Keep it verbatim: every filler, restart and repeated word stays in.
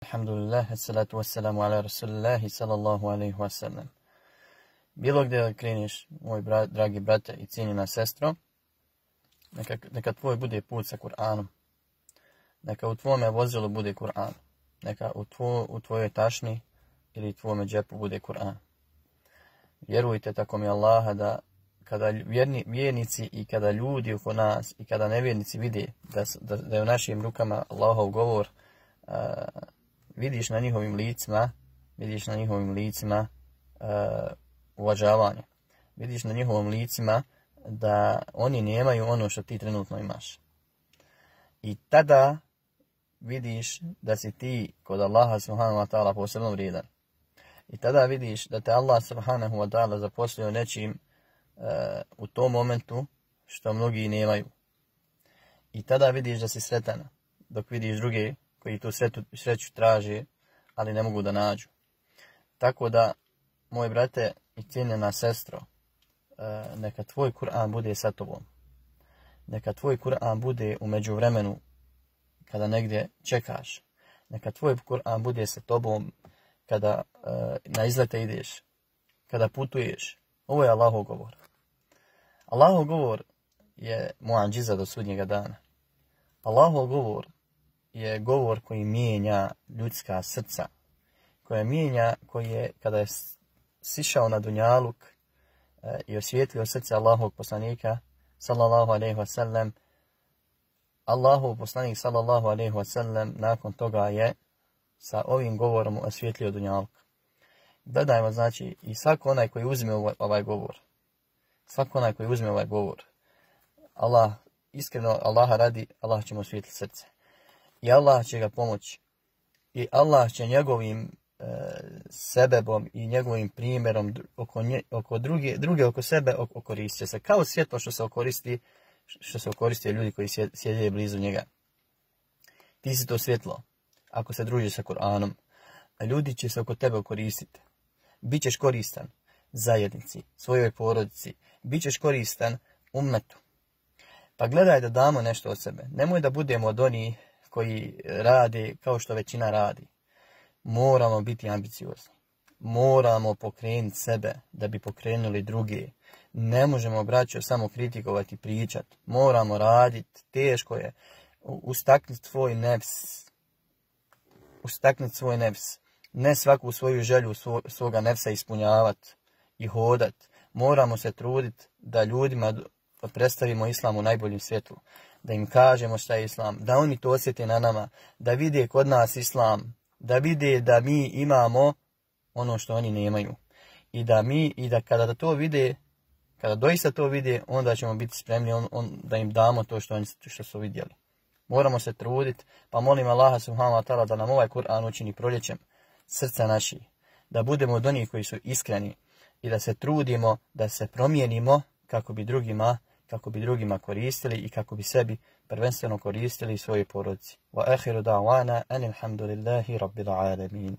alhamdulillah, assalatu wassalamu ala rasulillahi sallallahu alaihi wasallam. Bilo gdje kreneš, moj brat, dragi brate i cijenjena sestro, neka, neka tvoj bude put sa Kur'anom. Neka u tvome vozilu bude Kur'an. Neka u, tvo, u tvojoj tašni ili tvome džepu bude Kur'an. Vjerujte tako mi Allaha da kada vjerni, vjernici i kada ljudi oko nas i kada nevjernici vide da, da, da je u našim rukama Allahov govor, uh, vidiš na njihovim licima, vidiš na njihovim licima uh, uvažavanje. Vidiš na njihovim licima da oni nemaju ono što ti trenutno imaš. I tada vidiš da si ti kod Allaha subhanahu wa ta'ala posebno vrijedan. I tada vidiš da te Allah subhanahu wa ta'ala zaposlio nečim uh, u tom momentu što mnogi nemaju. I tada vidiš da si sretan, dok vidiš druge koji tu sretu, sreću traže, ali ne mogu da nađu. Tako da, moj brate i cijenjena sestro, uh, neka tvoj Kur'an bude sa tobom. Neka tvoj Kur'an bude u međuvremenu kada negdje čekaš. Neka tvoj Kur'an bude sa tobom kada uh, na izlete ideš, kada putuješ. Ovo je Allahov govor. Allahov govor je muadžiza do sudnjega dana. Allahov govor je govor koji mijenja ljudska srca. Koja mijenja, koji je, kada je sišao na dunjaluk uh, i osvijetlio srce Allahovog poslanika, sallallahu alaihi wa sallam, Allahov poslanik sallallahu alaihi wa sallam nakon toga je sa ovim govorom osvijetlio dunjaluk. Gledajmo, znači, i svako onaj koji uzme ovaj, ovaj govor, svako onaj koji uzme ovaj govor, Allah, iskreno Allaha radi, Allah će mu osvijetliti srce. I Allah će ga pomoći. I Allah će njegovim e, sebebom i njegovim primjerom oko, nje, oko druge, druge oko sebe okoristit će se. Kao svjetlo što se okoristi, što se okoristi ljudi koji sjede blizu njega. Ti si to svjetlo. Ako se družiš sa Kur'anom, a ljudi će se oko tebe okoristiti. Bićeš koristan zajednici, svojoj porodici. Bićeš koristan ummetu. Pa gledaj da damo nešto od sebe. Nemoj da budemo od onih koji rade kao što većina radi. Moramo biti ambiciozni. Moramo pokrenuti sebe da bi pokrenuli druge. Ne možemo, braćo, samo kritikovati i pričati. Moramo raditi. Teško je. Ustakniti svoj nefs. Ustakniti svoj nefs. Ne svaku svoju želju svo, svoga nefsa ispunjavati i hodati. Moramo se truditi da ljudima predstavimo islam u najboljem svjetlu. Da im kažemo šta je islam. Da oni to osjete na nama. Da vide kod nas islam. Da vide da mi imamo ono što oni nemaju. I da mi, i da kada to vide, kada doista to vide, onda ćemo biti spremni on, on, da im damo to što, oni, što su vidjeli. Moramo se truditi, pa molim Allaha subhanahu wa ta'ala da nam ovaj Kur'an učini proljećem srca naši. Da budemo od onih koji su iskreni i da se trudimo, da se promijenimo kako bi drugima, kako bi drugima koristili i kako bi sebi prvenstveno koristili svojoj porodici. Wa akhiru da'wana anil hamdulillahi rabbil alamin.